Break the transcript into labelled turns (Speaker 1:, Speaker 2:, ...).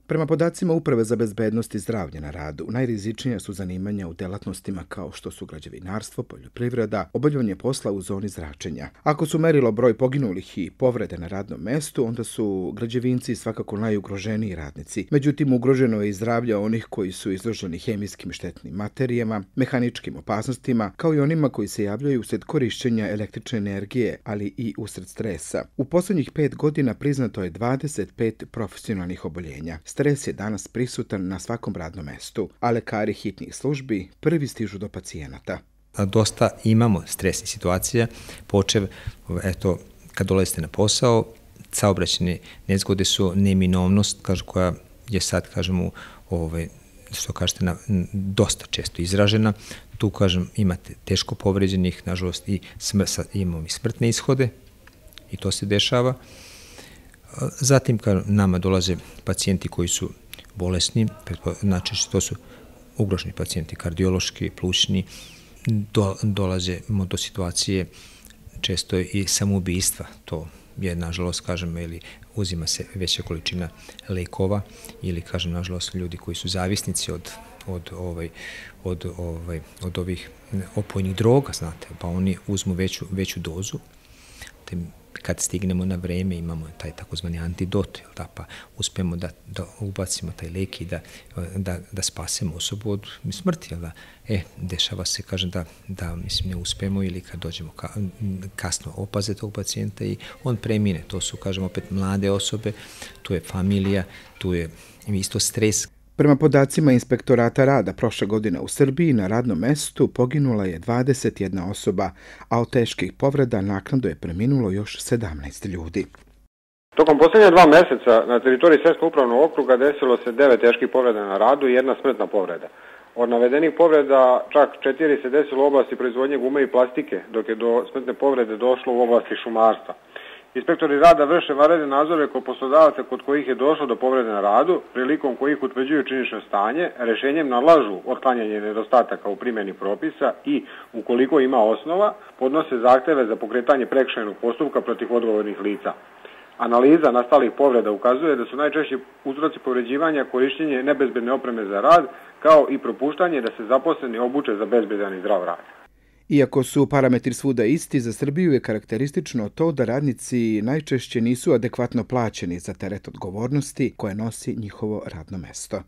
Speaker 1: Prema podacima Uprave za bezbednost i zdravlje na radu, najrizičnija su zanimanja u delatnostima kao što su građevinarstvo, poljoprivreda, obavljanje posla u zoni zračenja. Ako su merilo broj poginulih i povrede na radnom mestu, onda su građevinci svakako najugroženiji radnici. Međutim, ugroženo je i zdravlje onih koji su izloženi hemijskim štetnim materijama, mehaničkim opasnostima, kao i onima koji se javljaju usred korišćenja električne energije, ali i usred stresa. U posljednjih 5 godina priznato je 25 profesionalnih oboljenja. Stres je danas prisutan na svakom radnom mestu, a lekari hitnih službi prvi stižu do pacijenata.
Speaker 2: Dosta imamo stresnih situacija, počev, kad dolazite na posao, saobraćajne nezgode su neminovnost, koja je sad, što kažete, dosta često izražena. Tu, imate teško povređenih, nažalost, i imamo i smrtne ishode, i to se dešava. Zatim, nama dolaze pacijenti koji su bolesni, znači to su ugroženi pacijenti, kardiološki, plućni, dolazimo do situacije često i samoubistva. To je, nažalost, ili uzima se veća količina lekova ili, nažalost, ljudi koji su zavisnici od ovih opojnih droga, znate, pa oni uzmu veću dozu. Kad stignemo na vreme imamo taj takozvani antidot, pa uspemo da ubacimo taj lek i da spasemo osobu od smrti. Dešava se, da ne uspemo ili kad dođemo kasno opaze tog pacijenta i on premine. To su, opet mlade osobe, tu je familija, tu je isto stres.
Speaker 1: Prema podacima Inspektorata rada prošle godine u Srbiji na radnom mestu poginula je 21 osoba, a od teških povreda naknadno je preminulo još 17 ljudi.
Speaker 3: Tokom posljednja 2 meseca na teritoriji Sremskog upravnog okruga desilo se 9 teških povreda na radu i 1 smrtna povreda. Od navedenih povreda čak 4 se desilo u oblasti proizvodnje gume i plastike, dok je do smrtne povrede došlo u oblasti šumarstva. Inspektori rada vrše vanredne nadzore kod poslodavaca kod kojih je došlo do povrede na radu, prilikom kojih utvrđuju činjenično stanje, rješenjem nalažu otklanjanje nedostataka u primjeni propisa i, ukoliko ima osnova, podnose zahteve za pokretanje prekršajnog postupka protiv odgovornih lica. Analiza nastalih povreda ukazuje da su najčešći uzroci povređivanja korištenje nebezbedne opreme za rad, kao i propuštanje da se zaposleni obuče za bezbedan i zdrav rad.
Speaker 1: Iako su parametri svuda isti, za Srbiju je karakteristično to da radnici najčešće nisu adekvatno plaćeni za teret odgovornosti koje nosi njihovo radno mesto.